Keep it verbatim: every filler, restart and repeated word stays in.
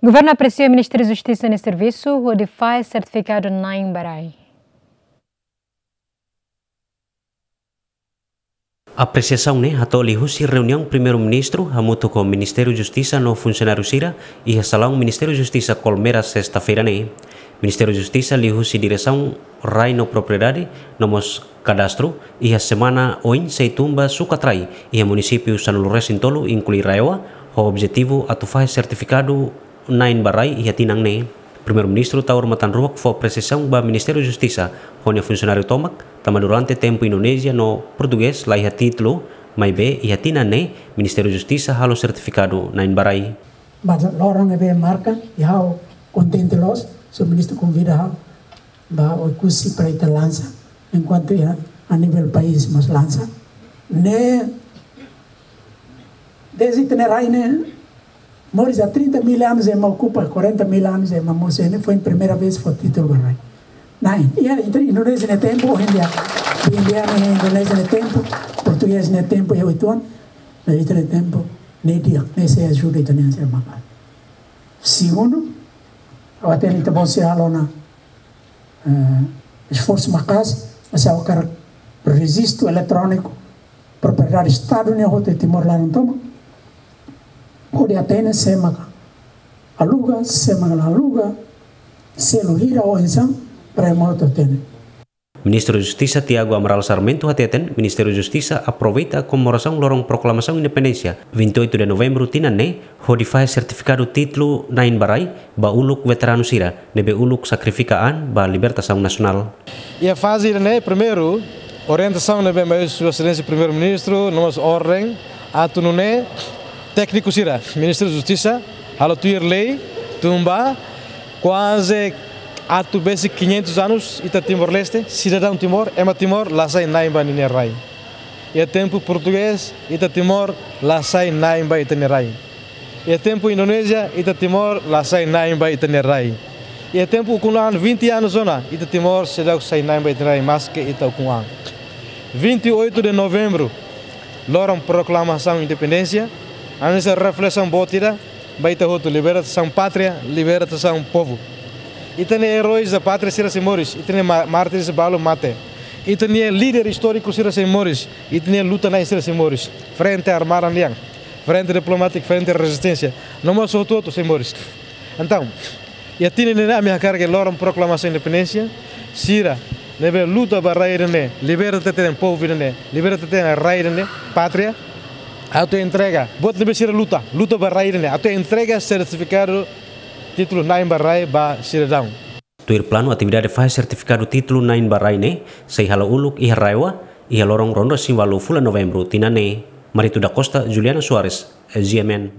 Governu apresia Ministériu Justisa nia servisu hodi fahe sertifikadu na'in ba rai. Apresiasaun ne'e hato'o liuhusi reuniaun Primeiru-Ministru hamutuk ho Ministériu Justisa no funsionáriu sira iha salaun Ministériu Justisa Kolmera, sesta-feira ne'e. Ministériu Justisa liuhusi Diresaun Rai no Propriedade no mós Kadastru iha semana oin sei tun ba sukat rai iha munisípiu sanulu-resin-tolu, inklui RAEOA, ho objetivu atu fahe sertifikadu na'in ba rai iha tinan ne'e. Primeiru-Ministru Taur Matan Ruak fó apresiasaun ba Ministériu Justisa ho nia funsionáriu tomak, tanba durante tempu Indonézia no Portugés la iha títulu, maibé iha tinan ne'e Ministériu Justisa halo sertifikadu na'in ba rai. Ba loron ne'ebé marka, i ha'u kontente loos, señór Ministru konvida ha'u ba Oekusi para ita lansa, enkuantu iha a nivel país mós lansa. Ne'e, dezde ita-nia rai ne'e, moris há trinta mil anos ema okupa, quarenta mil anos ema mós, ne'e foin primeira vez fó títulu ba rai. Na'in, iha, entre Indonézia nia tempu, ohin dia, India ne'e Indonézia nia tempu, Portugés nia tempu, iha oituan, maibé ita-nia tempu, ne'e di'ak, ne'e sei ajuda ita-nia sira maka'as. Segundu, ha'u hatene ita-boot sei halo ona, eh, esforsu maka'as, mas ha'u hakarak rejistu eletróniku propriedade Estadu nian hotu iha Timor laran tomak, hodi hatene sé maka aluga, sé maka la aluga, selu hira, oinsá, para ema hotu hatene. Ministru Justisa Tiago Amaral Sarmento hateten, Ministériu Justisa aproveita komemorasaun loron proklamasaun independénsia, vinte e oito de novembro tinan ne'e, hodi fahe sertifikadu títulu na'in ba rai ba uluk veteranu sira ne'ebé uluk sakrifika an ba libertasaun nasionál. Iha faze ida-ne'e, primeiru, orientasaun ne'ebé mai husi Sua Exelénsia Primeiru-Ministru, no mós orden atu nune'e tékniku sira Ministériu Justisa halo tuir lei, tun ba kuaze atu besik quinhentos anos ita Timor-Leste, sidadaun Timor, ema Timor, la sai na'in ba ninia rai. Iha tempu Portugés, ita Timor, la sai na'in ba ita-nia rai. Iha tempu Indonézia, ita Timor, la sai na'in ba ita-nia rai. Iha tempu ukun-an, vinte anos ona, ita Timor, seidauk sai na'in ba ita-nia rai, maske ita ukun-an. Vinte e oito de novembro, loron proklamasaun independénsia, hanesan reflesaun boot ida ba ita hotu, libertasaun pátria, libertasaun povu. Ita-nia eróis da pátria sira sei moris, ita-nia ma-, mártires balu mate. Ita-nia líder istóriku sira sei moris, ita-nia luta-na'in sira sei moris. Frente Armada nian, frente diplomátika, frente rezisténsia, no mós hotu-hotu sei moris. Entaun, iha tinan ne'e ami hakarak ke loron proklamasaun independénsia, sira ne'ebé luta ba rai ida-ne'e, liberta tiha tiha povu ida-ne'e, liberta tiha tiha rai ida-ne'e, pátria, atu entrega, buat ne'ebé sira luta, luta ba rai ida-ne'e, atu entrega sertifikadu títulu na'in ba rai ba sidadaun. Tuir planu, atividade fahe sertifikadu títulu na'in ba rai ne'e sei hala'o uluk iha RAEOA, iha loron ruanulu-resin-ualu fulan Novembru tinan ne'e. Marito da Costa, Juliana Soares, G M N.